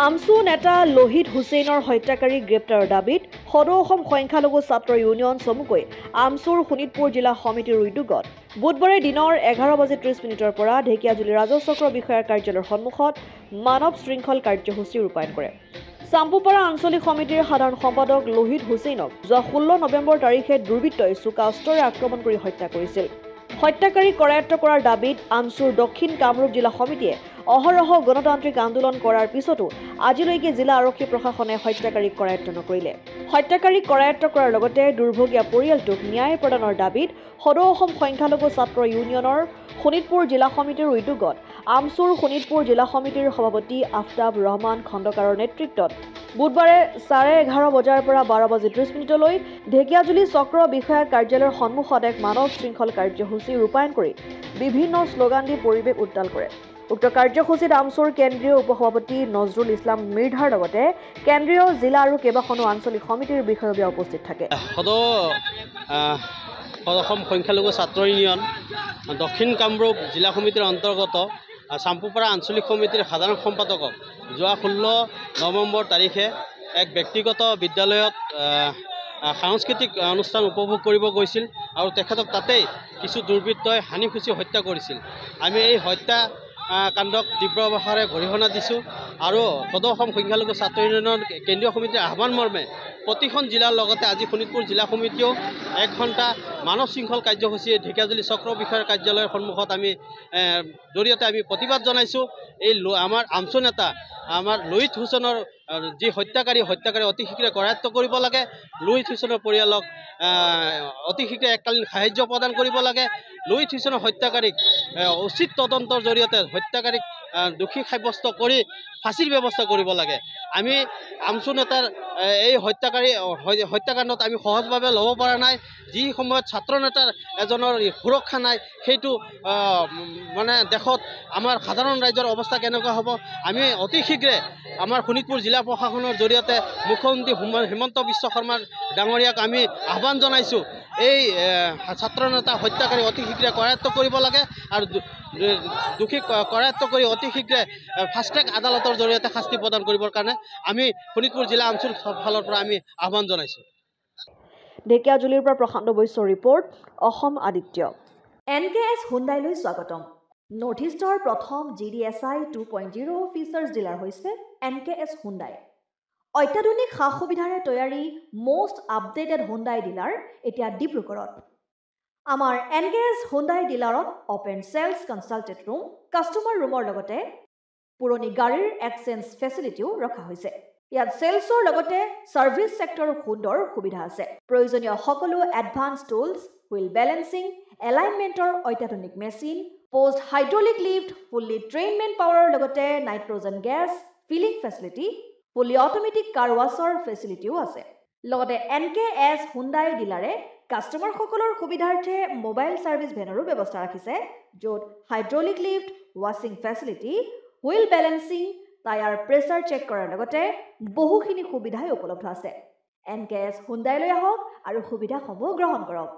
আমছু নেতা লোহিত হুছেইনৰ হত্যাকাৰীক গ্ৰেপ্তাৰৰ দাবীত সদৌ অসম সংখ্যালঘু ছাত্ৰ ইউনিয়ন চমুকৈ আমছুৰ শোণিতপুৰ জিলা সমিতিৰ উদ্যোগত বুধবাৰে দিনৰ 11:30 পৰা ঢেকীয়াজুলি ৰাজহ চক্ৰ বিষয়াৰ কাৰ্যালয়ৰ সন্মুখত মানৱ শৃংখল কাৰ্যসূচী ৰূপায়ণ কৰে। চাম্পুপাৰা আঞ্চলিক সমিতিৰ সাধাৰণ সম্পাদক লোহিত হুছেইনক যোৱা 16 নৱেম্বৰ তাৰিখে দুৰ্বৃত্তই চোকা অস্ত্ৰৰে আক্ৰমণ কৰি হত্যা কৰিছিল। হত্যাকাৰীক কৰায়ত্ব কৰাৰ দাবীত আমছুৰ দক্ষিণ কামৰূপ জিলা সমিতিয়ে অহৰহ গণতান্ত্ৰিক আন্দোলন কৰাৰ পিছতো আজিলৈকে জিলা আৰক্ষী প্ৰশাসনে হত্যাকাৰীক কৰায়ত্ব নকৰিলে। হত্যাকাৰীক কৰায়ত্ব কৰাৰ লগতে দুৰ্ভগীয়া পৰিয়ালটোক ন্যায় প্ৰদানৰ দাবীত সদৌ অসম সংখ্যালঘু ছাত্ৰ ইউনিয়নৰ শোণিতপুৰ জিলা সমিতিৰ উদ্যোগত আমছুৰ শোণিতপুৰ জিলা সমিতিৰ সভাপতি আফতাব ৰহমান খণ্ডকাৰৰ নেতৃত্বত বুধবাৰে 11:30 বজাৰ পৰা 12:30 ঢেকীয়াজুলি চক্ৰ বিষয়া কাৰ্যালয়ৰ সন্মুখত এক মানৱ শৃংখল কাৰ্যসূচী ৰূপায়ণ কৰি বিভিন্ন শ্লোগান দি পৰিৱেশ উত্তাল কৰে। উক্ত কাৰ্যসূচীত আমছুৰ কেন্দ্ৰীয় উপসভাপতি নজৰুল ইছলাম মিৰ্ধাৰ লগতে কেন্দ্ৰীয় জিলা আৰু কেইবাখনো আঞ্চলিক সমিতিৰ বিষয়ববীয়া উপস্থিত থাকে। সদৌ অসম সংখ্যালঘু ছাত্ৰ ইউনিয়ন দক্ষিণ কামৰূপ জিলা সমিতিৰ অন্তৰ্গত চাম্পুপাৰা আঞ্চলিক সমিতিৰ সাধাৰণ সম্পাদকক যোৱা 16 নৱেম্বৰ তাৰিখে এক ব্যক্তিগত বিদ্যালয়ত সাংস্কৃতিক অনুষ্ঠান উপভোগ কৰিব গৈছিল আৰু তেখেতক তাতেই কিছু দুৰ্বৃত্তই হানি খুচি হত্যা কৰিছিল। আমি এই হত্যা কাণ্ডক তীব্ৰ ভাষাৰে গৰিহণা দিছোঁ আৰু সদৌ অসম সংখ্যালঘু ছাত্ৰ ইউনিয়নৰ কেন্দ্ৰীয় সমিতিৰ আহ্বান মৰ্মে প্ৰতিখন জিলাৰ লগতে আজি শোণিতপুৰ জিলা সমিতিয়েও 1 ঘণ্টা মানৱ শৃংখল কাৰ্যসূচী ঢেকীয়াজুলি চক্ৰ বিষয়াৰ কাৰ্যালয়ৰ সন্মুখত আমি জৰিয়তে আমি প্ৰতিবাদ জনাইছোঁ। এই আমাৰ আমছু নেতা আমাৰ লোহিত হুছেইনৰ যি হত্যাকাৰী অতি শীঘ্ৰে কৰায়ত্ব কৰিব লাগে, লোহিত হুছেইনৰ পৰিয়ালক অতি শীঘ্ৰে এককালীন সাহায্য প্ৰদান কৰিব লাগে, লোহিত হুছেইনৰ হত্যাকাৰীক উচিত তদন্তৰ জৰিয়তে হত্যাকাৰীক দোষী সাব্যস্ত কৰি ফাঁচীৰ ব্যৱস্থা কৰিব লাগে। আমি আমছু নেতাৰ এই হত্যাকাণ্ডত আমি সহজভাৱে ল'ব পৰা নাই। যি সময়ত ছাত্ৰ নেতাৰ এজনৰ সুৰক্ষা নাই, সেইটো মানে দেশত আমাৰ সাধাৰণ ৰাইজৰ অৱস্থা কেনেকুৱা হ'ব? আমি অতি শীঘ্ৰে আমাৰ শোণিতপুৰ জিলা প্ৰশাসনৰ জৰিয়তে মুখ্যমন্ত্ৰী হিমন্ত বিশ্ব শৰ্মাৰ ডাঙৰীয়াক আমি আহ্বান জনাইছোঁ, এই ছাত্ৰ নেতা হত্যাকাৰী অতি শীঘ্ৰে কৰায়ত্ব কৰিব লাগে আৰু দোষীক কৰায়ত্ব কৰি অতি শীঘ্ৰে ফাষ্ট ট্ৰেক আদালতৰ জৰিয়তে শাস্তি প্ৰদান কৰিবৰ কাৰণে আমি শোণিতপুৰ জিলা আমছুৰ ফালৰ পৰা আমি আহ্বান জনাইছোঁ। ঢেকীয়াজুলিৰ পৰা প্ৰশান্ত বৈশ্যৰ ৰিপৰ্ট, অসম আদিত্য। NKS হুণ্ডাইলৈ স্বাগতম। নৰ্থ ইষ্টৰ প্ৰথম GDSI 2.0 features dealer হৈছে NKS Hyundai. অত্যাধুনিক সা সুবিধাৰে তৈয়াৰী মষ্ট আপডেটেড হুণ্ডাই ডিলাৰ এতিয়া ডিব্ৰুগড়ত। আমাৰ NKS Hyundai ডিলাৰত open sales consultant room, customer ৰুমৰ লগতে পুৰণি গাড়ীৰ এক্সচেঞ্জ ফেচিলিটিও ৰখা হৈছে। ইয়াত চেলছৰ লগতে ছাৰ্ভিচ ছেক্টৰৰ সুন্দৰ সুবিধা আছে। প্ৰয়োজনীয় সকলো এডভান্স টুলছ, হুইল বেলেঞ্চিং, এলাইনমেণ্টৰ অত্যাধুনিক machine, post hydraulic lift, fully train man পাৱাৰৰ লগতে nitrogen gas filling facility, fully automatic car ৱাছৰ ফেচিলিটিও আছে। লগতে NKS Hyundai ডিলাৰে কাষ্টমাৰসকলৰ সুবিধাৰ্থে মোবাইল ছাৰ্ভিচ ভেনৰো ব্যৱস্থা ৰাখিছে, য'ত হাইড্ৰলিক লিফ্ট, ৱাছিং facility, wheel balancing, tyre pressure check কৰাৰ লগতে বহুখিনি সুবিধাই উপলব্ধ আছে। NKS হুণ্ডাইলৈ আহক আৰু সুবিধাসমূহ গ্ৰহণ কৰক।